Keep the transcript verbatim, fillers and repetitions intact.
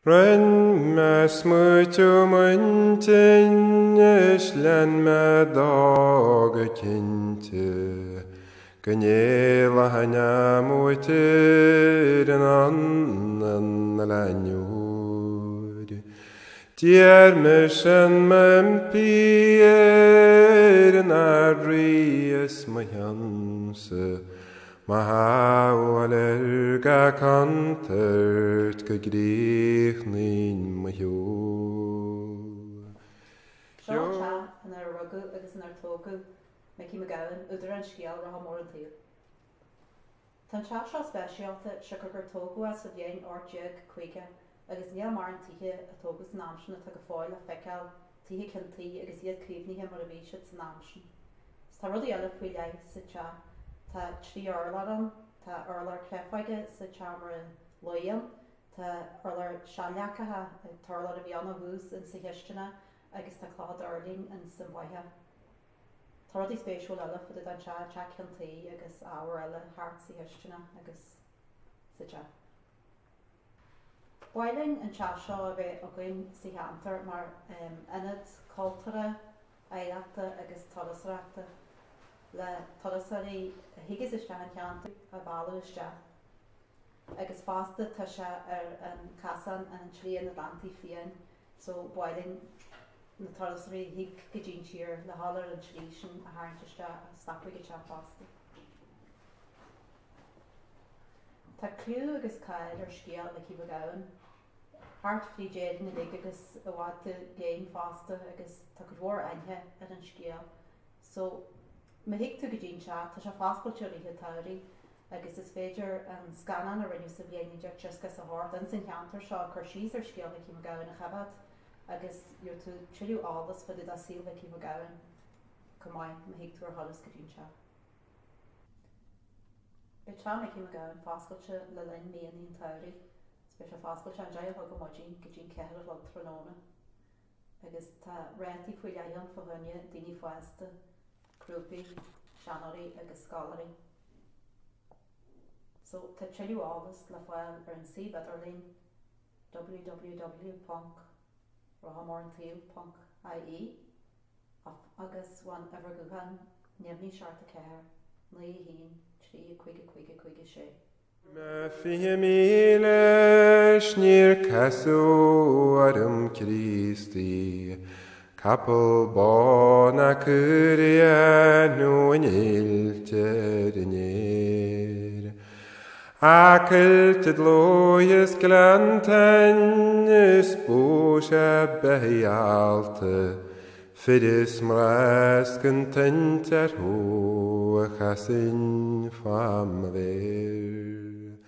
Rinne mé smaoitiú m'intinn is lean mé dó go cinnte, go n-éalaigh uait ar an anlann leanúir. D'iarr mise an m'impí ar an Ard-Rí is mo chionsa, mo shábháil ar gach contúirt go gcríochnaínn mo shiúl. Seo an teach inar rugadh agus inar tógadh Micí Mac Gabhann, údar an scéil Rotha Mór an tSaoil. Tá an teach seo speisialta siocair gur tógadh é sa bhliain ocht déag caoga agus níl mórán tithe a tógadh san am sin atá go fóill le feiceáil, tithe ceann tuí agus iad caomhnaithe mar a bhí siad san am sin. Tá rudaí eile faoi leith sa teach. Tá trí urlár ann, tá urlár créafóige sa tseomra luí ann, tá urlár seanleacacha, an t-urlár a bhí ann ó thús insa chisteanach agus tá clocha duirlín insan bhfaiche. Tá rudaí spéisiúla eile fá dtaobh den teach, teach ceann tuí agus ábhar eile thart sa chisteanach agus sa teach. Ba mhaith linn an teach seo a bheith againn sa cheantar mar ionad cultúrtha, oidhreachta agus turasóireachta le turasóirí a thigeas isteach an cheantar a mhealladh isteach. Agus fosta tá sé ar an casán an tSlí an Atlantaigh Fiáin, so ba mhaith linn na turasóirí a thig go dtí'n tír le dhul ar an tslí sin a tharraingt isteach a stopadh ag an teach fosta. Tá clú agus cáil ar scéal Mhicí Mhac Gabhann, thart fríd Éirinn uilig agus i bhfad i gcéin fosta agus tá cuid mhór aithne ar an scéal. So má thig tú go dtí'n teach, tá sé foscailte i rith an tsamhraidh agus is féidir an scannán a rinneadh sa bhliain naoi déag tríocha is a hocht ins an cheantar seo ag cur síos ar scéal Mhicí Mhac Gabhann a choimhéad agus gheobhaidh tú tuilleadh eolas fá dtaobh de saol Mhicí Mhac Gabhann chomh maith má thig tú ar thuras go dtí'n teach. Beidh teach Mhicí Mac Gabhann foscailte le linn míonna an tsamhraidh, is beidh sé foscailte ón deich a chlog ar maidin go dtí'n ceathair a chlog tráthnóna. Agus tá rátaí faoi leith ann fá choinne daoine fásta, grúpaí, seanóirí agus scoláirí. So tá tuilleadh eolas le fáil ar an suíomh idirlín www ponc rothamoransaol ponc ie agus ón uimhir ghutháin neamhní seacht a ceathair naoi a haon trí cúig cúig cúig a sé. Mé fiche míle 's níor casadh orm Críostaí, capall bán a cuireadh nó an fhuilt ar an aer. A coillte dlúth is gleanntáin is bó sé beatha fir is mná 's gan toint orthu a chasainn fá mo mhéar.